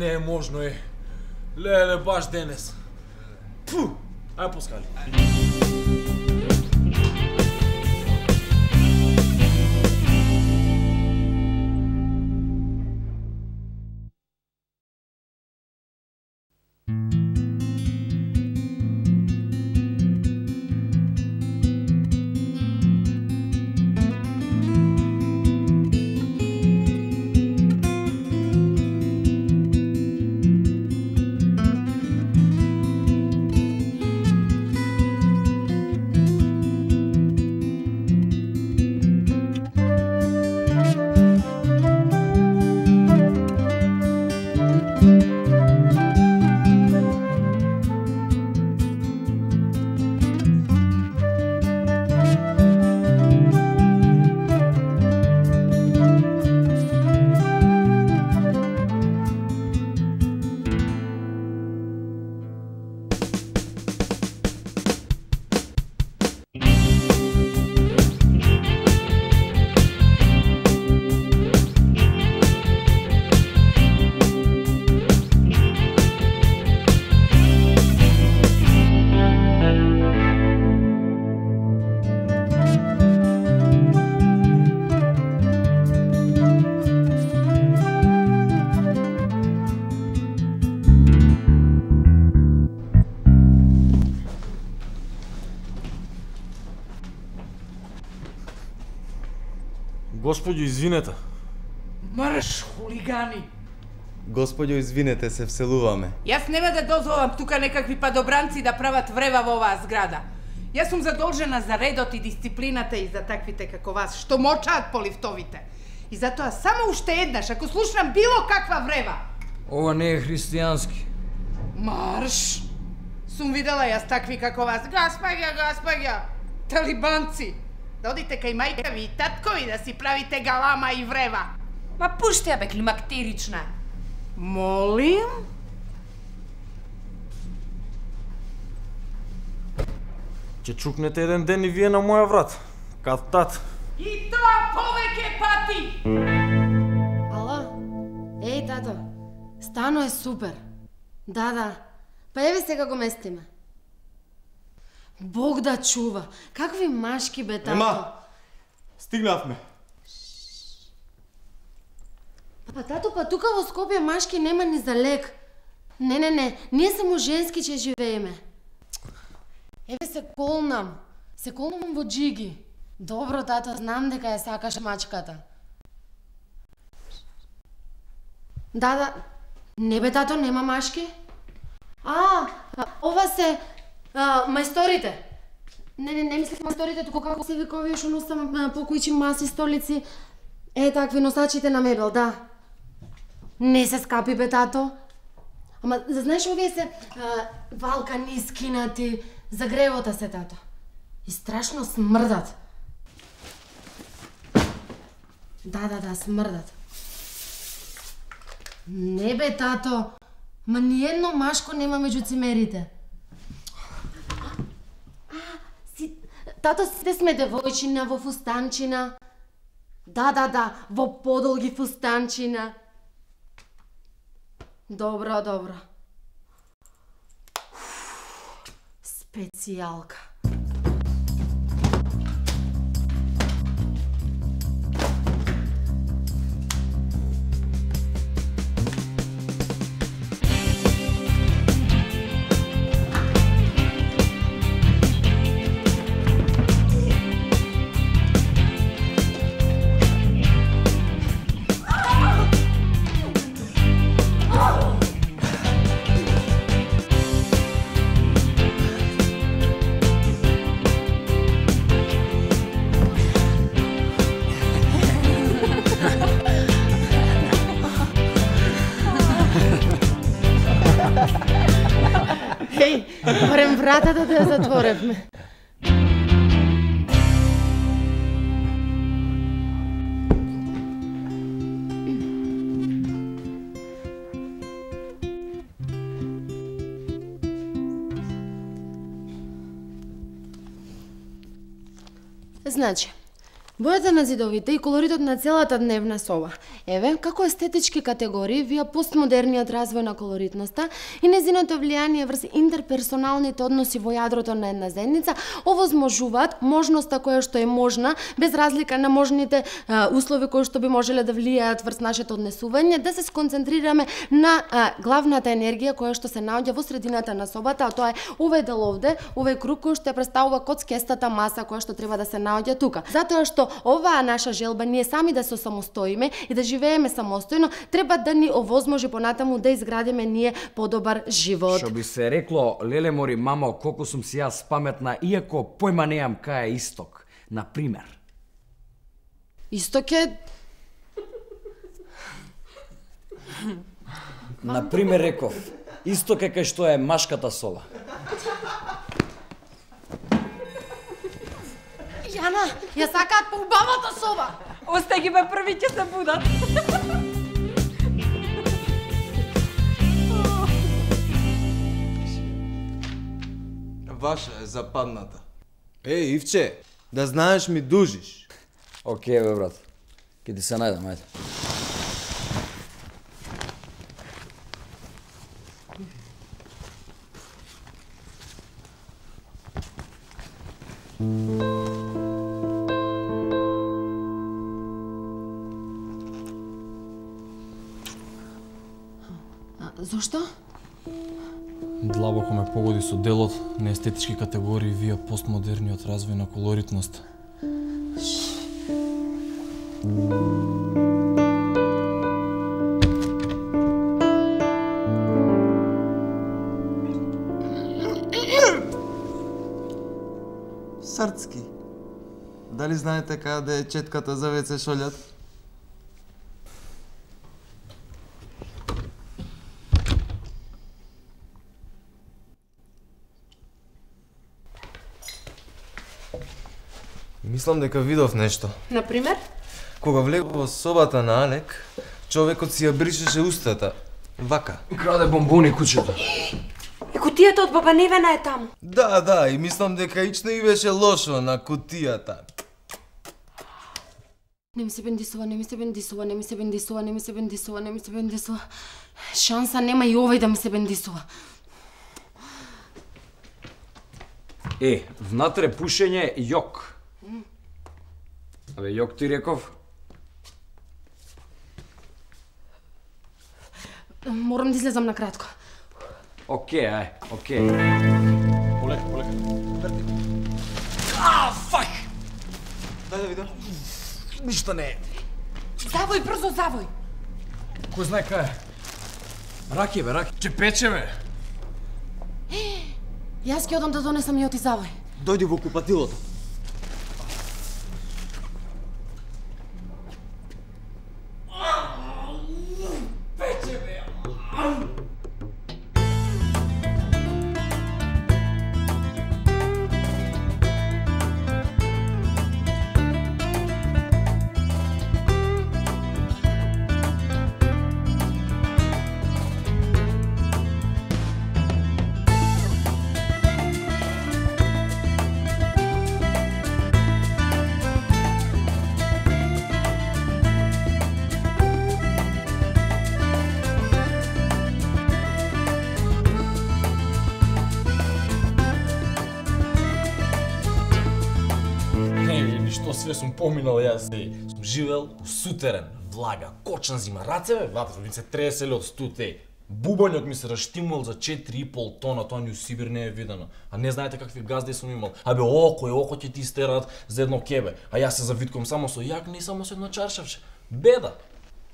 не е можно, Леле, баш денес. Пфу, ај пускали. Господјо, извинете. Марш, хулигани! Господјо, извинете, се вселуваме. Јас нема да дозволам тука некакви падобранци да прават врева во оваа зграда. Јас сум задолжена за редот и дисциплината и за таквите како вас, што мочаат по лифтовите. И затоа само уште еднаш, ако слушнам било каква врева. Ова не е христијански. Марш! Сум видела јас такви како вас. Гаспаѓа! Талибанци! Да одите кај мајка ви и таткови да си правите галама и врева. Ма пуште ја бе, климактерична. Молим? Ќе чукнете еден ден и вие на моја врат. Кат-тат. И тоа повеќе пати! Ала? Еј, тато, стано е супер. Да. Па еве сега го местиме. Бог да чува. Какви машки бе, тато? Ема, стигнавме. Па тато, па тука во Скопје машки нема ни за лек. Не, ние само женски ќе живееме. Еве се колнам во джиги. Добро, тато, знам дека ја сакаш мачката. Да, не бе, тато, нема машки. Ова се мајсторите. Не мислев мајсторите, туку како се вика овие што носам покујчи маси, столици. Такви носачите на мебел, да. Не се скапи бе, тато. Ама, знаеш, овие се валкани, скинати, за гревота се, тато. И страшно смрдат. Да, смрдат. Не бе, тато. Ма ниедно машко нема меѓу цимерите. Тато, сите сме девојчина во фустанчина. Да, во подолги фустанчина. Добро. Специјалка. Барем вратата да ја затворевме. Значи, бојата на зидовите и колоритот на целата дневна соба Еве, како естетички категории, вие постмодерниот развој на колоритноста и незиното влијание врз интерперсоналните односи во јадрото на една заедница овозможуваат можноста која што е можна, без разлика на можните услови кои што би можеле да влијаат врз нашето однесување, да се сконцентрираме на главната енергија која што се наоѓа во средината на собата, а тоа е овој дел овде, овој круг кој што представува коцкестата маса која што треба да се наоѓа тука. Затоа што оваа наша желба ние сами да се самостоиме и да живееме самостојно, треба да ни овозможи понатаму да изградиме ние подобар живот. Што би се рекло, леле мори мамо, колку сум си јас паметна, иако појма неам кај е исток. Например. Исток е... Например реков, исток е кај што е машката соба. Јана, ја сакаат по убавата соба! Остај ги бе, први ќе се будат. Ваша е западната. Ивче, да знаеш ми дужиш. Океј бе брат, ке ти се најдам, ајде. Зошто? Длабоко ме погоди со делот на естетички категории вија постмодерниот развој на колоритност. Срцки. Дали знаете каде е четката за веце шолјат? Мислам дека видов нешто. Например? Кога влегов во собата на Алек, човекот си ја бришеше устата. Вака. Краде бомбони кучето. И кутијата од баба Невена е таму. Да, и мислам дека ично и беше лошо на кутијата. Не ми се бендисува, не ми се бендисува, не ми се бендисува, не ми се бендисува, не ми се бендисува. Шанса нема и овој да ми се бендисува. Внатре пушење јок. Абе, јок ти реков? Морам да излезам на кратко. Океј. Полека. Фак! Дај да видам. Ништо не е. Завој, брзо завој. Кој знае кај е? Раки бе, раки. Ќе пече бе. Јас ќе одам да донесам и оти завој. Дојди во купатилото. Што све сум поминал јас, сум живел у сутерен, влага, кочна зима, рацеве, вата ми се треселе од студ, бубањот ми се раштимувал за 4,5 тона, тоа ни у Сибир не е видено. А не знаете какви газди сум имал. Абе, око ќе ти истерат за едно кебе, а јас се завиткувам само со јагне и само со едно чаршавче. Беда!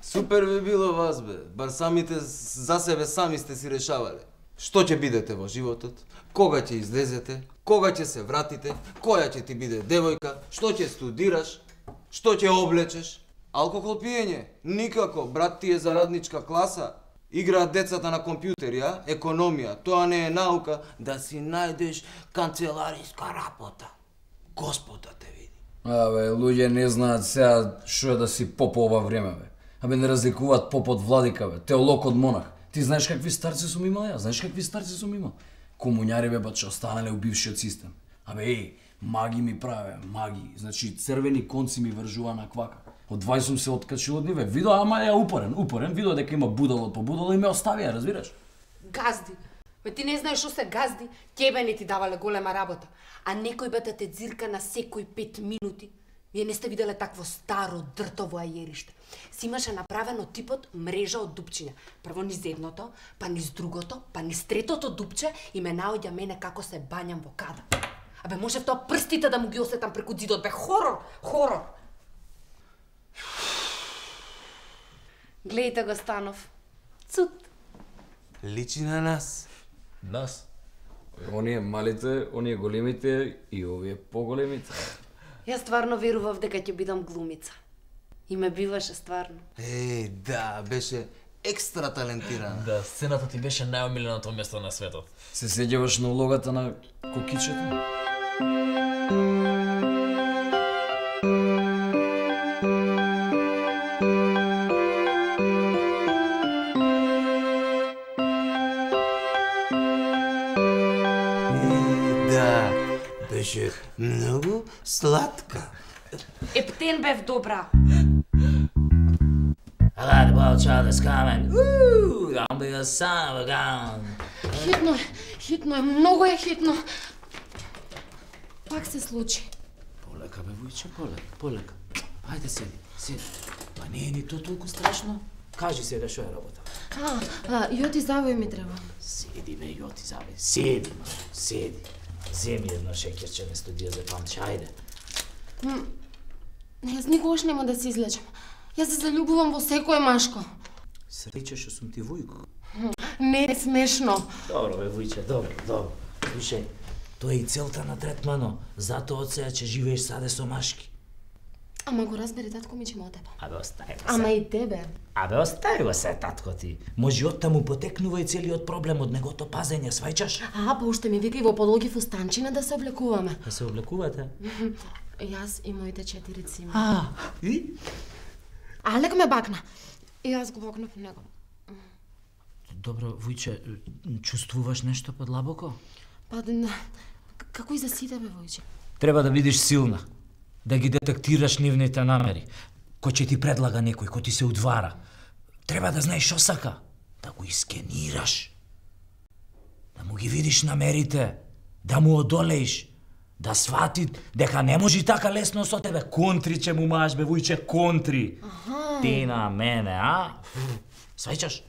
Супер би било вас бе, бар самите за себе сами сте си решавале. Што ќе бидете во животот? Кога ќе излезете? Кога ќе се вратите? Која ќе ти биде девојка? Што ќе студираш? Што ќе облечеш? Алкохол пиење? Никако, брат ти е за радничка класа. Играат децата на компјутери, а? Економија, тоа не е наука, да си најдеш канцелариска работа. Господа те види. Абе, луѓе не знаат сега што е да си поп ова време, бе. Абе, не разликуваат поп од владика, бе, теолог од монах. Ти знаеш какви старци сум имал ја? Знаеш какви старци сум имал? Комуњари бе, баче, останале у бившиот систем. Абе, маги ми праве, маги. Значи, црвени конци ми вржува на квака. Од 20 сум се откачил од ниве. Видо, ама ја упорен, видо дека има будало по будало и ме остави, ја разбираш? Газди. Бе ти не знаеш што се газди, тебе не ти давале голема работа. А некој бе те дзирка на секој 5 минути. Вие не сте виделе такво старо дртово ајериште. Си имаше направено типот мрежа од дупчиња. Прво низ едното, па низ другото, па низ третото дупче и ме наоѓа мене како се бањам во када. Абе можев тоа прстите да му ги осетам преку ѕидот, бе хорор. Гледајте го Станов. Цут. Личи на нас. Нас? Оние малите, оние големите и овие поголемите. Јас стварно верував дека ќе бидам глумица. И ме биваше стварно. Да, беше екстра талентирана. Да, сцената ти беше најомиленото место на светот. Се сеќаваш на улогата на кокичето? Да, беше многу сладка. Ептен бев добра. I like the ball child that's coming. Woo! Gonna be a son of a gun. Хитно е, многу е хитно. Пак се случи. Полека, бе, Вујче, полека. Ајде, седи. Па не е ни то толку страшно. Кажи сега што е работа. Јоти завој ми треба. Седи, бе, јоти завој. Седи. Земи едно шекерче, место да ја запамти, ајде. Јас никогаш нема да се излечам. Јас се заљубувам во секој машко. Среќа што сум ти Вујко. Не е смешно. Добро, бе, Вујче, добро. Слушај, тоа е и целта на третмано. Затоа од сега ќе живееш саде со машки. Ама го разбери татко ми, че ме од тебе. Абе, остави го се. Ама и тебе. Абе, остави го се, татко ти. Може од таму потекнува и целиот проблем од негото пазење, свајчаш? Па уште ми вика и во подолги фустанчина да се облекуваме. Да се облекувате? Јас и моите 4 цима. И? Алек ме бакна. И јас го бакнав него. Добро, Вујче, чувствуваш нешто подлабоко? Па, како и за сите бе, Војче. Треба да бидеш силна, да ги детектираш нивните намери. Кој ќе ти предлага некој, кој ти се удвара. Треба да знаеш што сака, да го искенираш. Да му ги видиш намерите, да му одолеиш, да свати дека не може така лесно со тебе. Контри ќе му мааш, бе, Вујче, контри. Ти на мене, а? Свајчаш?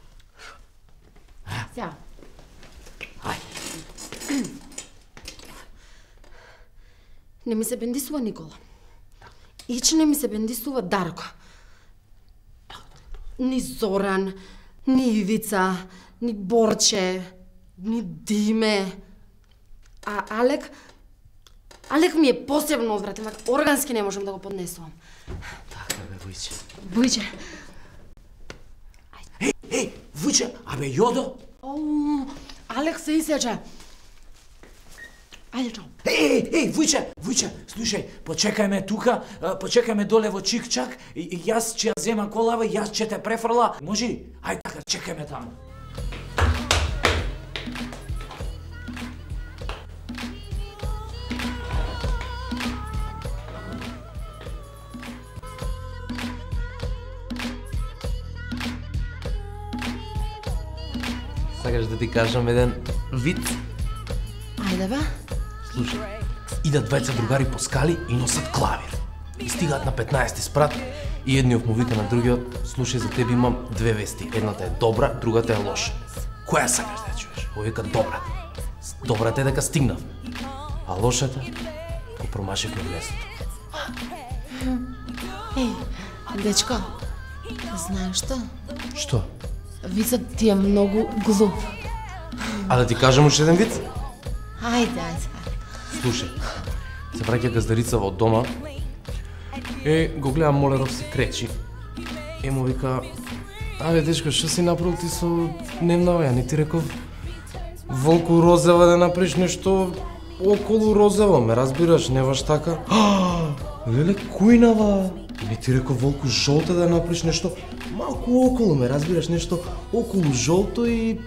Сега. Ај. Не ми се бендисува Никола. Ич не ми се бендисува Дарко. Ни Зоран, ни Ивица, ни Борче, ни Диме. А Алек ми е посебно одвратен, органски не можам да го поднесувам. Така бе, Вујче. Војче. Еј, Вујче, абе Јодо? Алек се исече. Ајде, чао. Еј, Вујче, слушај, почекај ме тука, почекај ме доле во Чик-чак, и јас ќе ја земам колава, јас ќе те префрла, може? Ајде така, чекај ме таму. Сакаш да ти кажам еден вид? Ајде, бе. Слушај, идат двајца другари по скали и носат клавир. И стигаат на 15-ти спрат и едниот му вика на другиот: слушај, за тебе имам две вести. Едната е добра, другата е лоша. Која сакаш да ја чуеш? Овој вика добрата. Добрата е дека стигнав. А лошата го промашивме местото. Дечко, знаеш што? Што? Вицот ти е многу глуп. А да ти кажам уште еден виц? Ајде. Слушај, се враќа газдарица во дома, го гледам Молеров се кречи, му вика: абе дечко, што си направил ти со дневна ја? Не ти реков Волку розева да направиш нешто околу розево, ме разбираш, не баш така? Леле, кујнава! Не ти реков Волку жолта да направиш нешто малку околу, ме разбираш, нешто околу жолто и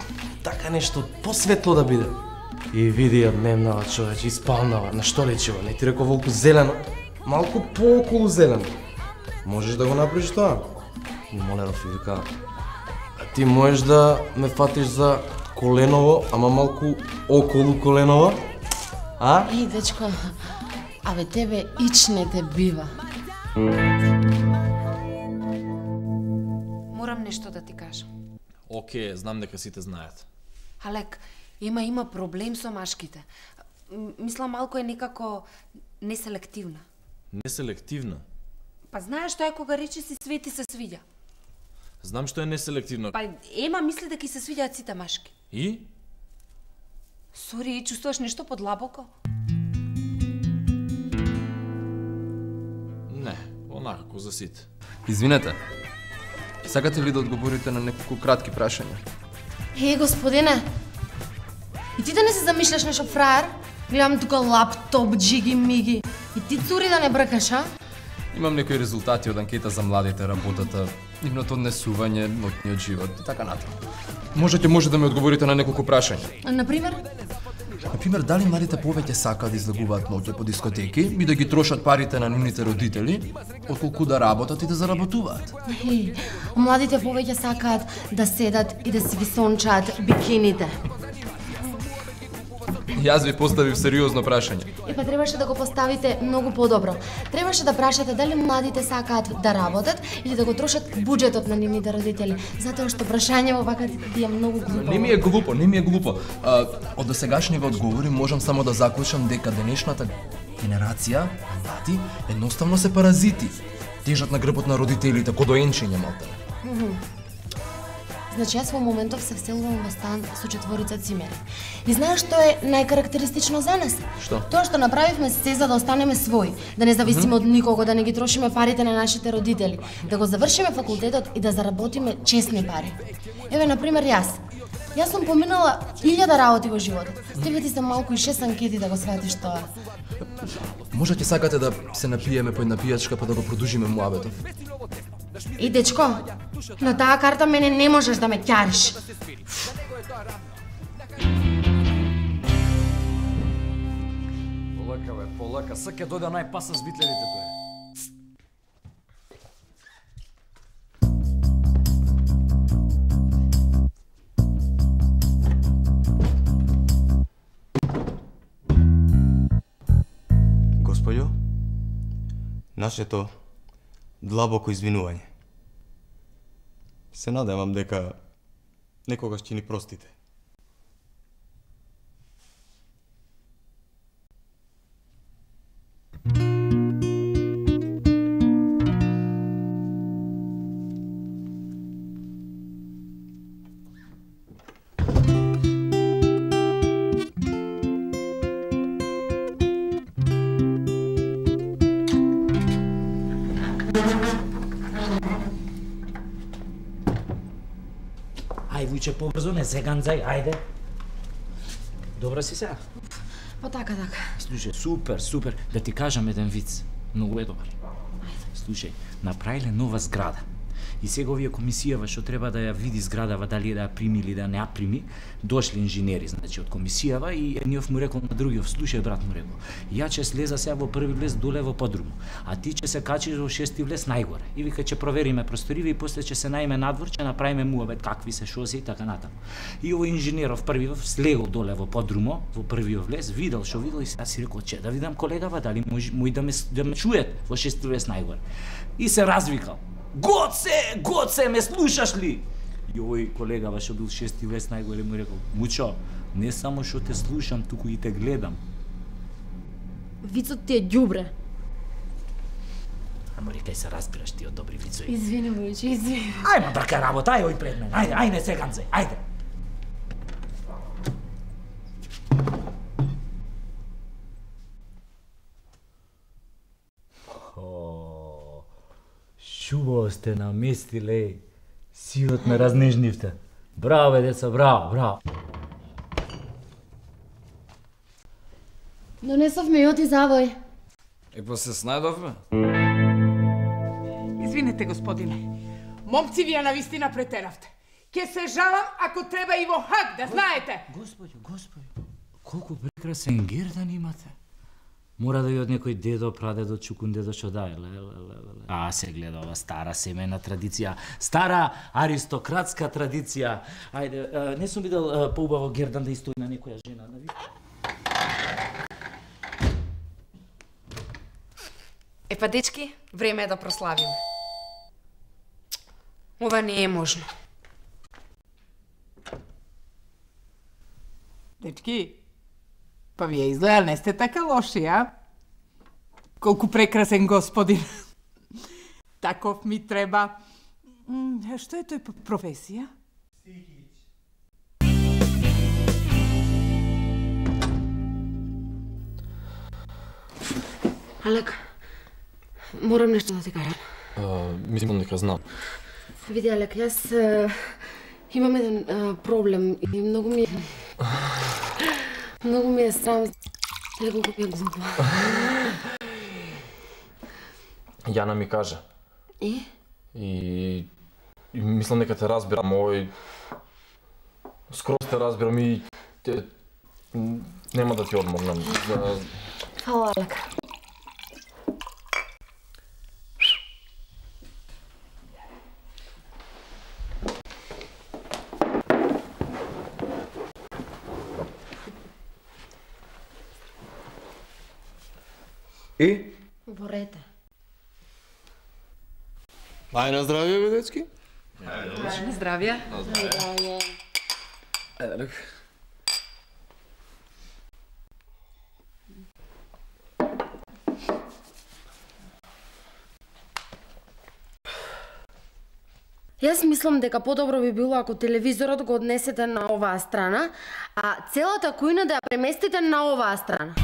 така нешто посветло да биде. И види ја дневнава, човече, испалнава, на што речева, не ти реков Волку зелено, малку пооколу зелено. Можеш да го направиш тоа? Моле, Рафика, ти можеш да ме фатиш за коленово, ама малку околу коленово? А? Еј, дечко, абе тебе ич не те бива. Морам нешто да ти кажам. Океј, знам дека сите знаат. Алек, има проблем со машките. Мислам малку е некако неселективна. Неселективна? Па знаеш што е кога рече си Свети се свиѓа? Знам што е неселективно. Па Ема мисли дека се свиѓаат сите машки. И? Сори, чувствуваш нешто подлабоко? Не, онакако за сите. Извинете, сакате ли да одговорите на неколку кратки прашања? Господине, и ти да не се замишляш нешто фраер? Гледам тука лаптоп, джиги-миги. И ти цури да не бркаш, а? Имам некои резултати од анкета за младите, работата, нивното однесување, ноќниот живот и така натаму. Може да ми одговорите на неколку прашања. Например? Например, дали младите повеќе сакаат да излегуваат ноќе по дискотеки и да ги трошат парите на нивните родители, отколку да работат и да заработуваат? Младите повеќе сакаат да седат и да си ги сончаат бикините. Јас ви поставив сериозно прашање. Па требаше да го поставите многу подобро. Требаше да прашате дали младите сакаат да работат или да го трошат буџетот на нивните родители, затоа што прашањето вака ти е многу глупо. Не ми е глупо. Од досегашниве одговори можам само да заклучам дека денешната генерација, млади, едноставно се паразити. Тежат на грбот на родителите, ко доенчиња малтене. Значи, јас во моментов се вселувам во стан со 4 цимери. И знаеш што е најкарактеристично за нас? Што? Тоа што направивме се за да останеме своји, да не зависиме од никого, да не ги трошиме парите на нашите родители, да го завршиме факултетот и да заработиме честни пари. Еве, например, јас сум поминала 1000 работи во животот. Тебе ти се малку и 6 анкети да го сватиш тоа. Може ќе сакате да се напиеме по една пијачка па да го продужиме муабетов? И дечко, на таа карта мене не можеш да ме ќариш. Полака, сак ќе дојде најпаса с битлерите тој. Господјо, нашето длабоко извинување. Се надевам дека некогаш ќе ни простите. Ај, вујче, побрзо, не се ганзај, ајде. Добра си сега? Па така. Слушај, супер, да ти кажам еден виц. Многу е добар. Слушај, направиле нова зграда. И сега овие комисијава што треба да ја види зградава дали да ја прими или да не ја прими, дошли инженери, значи од комисијава и едниот му рекол на другиот, слушај брат му рекол, ја ќе слеза сега во први влез доле во подруму, а ти ќе се качиш во шести влез најгоре. И вика ќе провериме просториве и после ќе се најме надвор, ќе направиме муабет какви се шоси и така натаму. И овој инженеров првиот слегол доле во подрумо, во првиот влез, видел што видел и сега си рекол, че да видам колегава дали мој да ме чует во шести влез најгоре. И се развикал. Гоце, ме слушаш ли? И овој колегава што бил шести влез најгоре му рекол, Мучо, не само што те слушам, туку и те гледам. Вицот ти е ѓубре. Ама кај се разбираш ти од добри вицови. Извини, Вујче, извини. Ајде, брка работа, ајде пред мен, ајде, не се ганзај, ајде. Шубаво сте наместиле, сиот ме разнежнивте. Браво, деца, браво. Донесовме јот и завој. Епа се снајдовме? Извинете, господине. Момци, вие навистина претеравте. Ке се жалам ако треба и во Хаг, да знаете. Господи, колку прекрасен гердан имате. Мора да ја од некој дедо, прадедо, чукун дедо што дај. Се гледа ова стара семејна традиција, стара аристократска традиција. Ајде, не сум видел поубаво гердан да истои на некоја жена, да ви. Епа, дечки, време е да прославиме. Ова не е можно. Дечки, па вие изгледа не сте така лоши, а? Колку прекрасен господин. Таков ми треба. Што е тој професија? Алек, морам нешто да ти кажам. Мислам дека знам. Види, Алек, јас имам еден проблем и многу ми е срам. Неколку ми е глупо. Јана ми кажа. И? И мислам дека те разбирам, овој... Скроз те разбирам и... Нема да ти одморнам. Фала, Алек. И? Борете. Ај на здравје, бе, дечки. На здравје. Јас мислам дека подобро би било ако телевизорот го однесете на оваа страна, а целата кујна да ја преместите на оваа страна.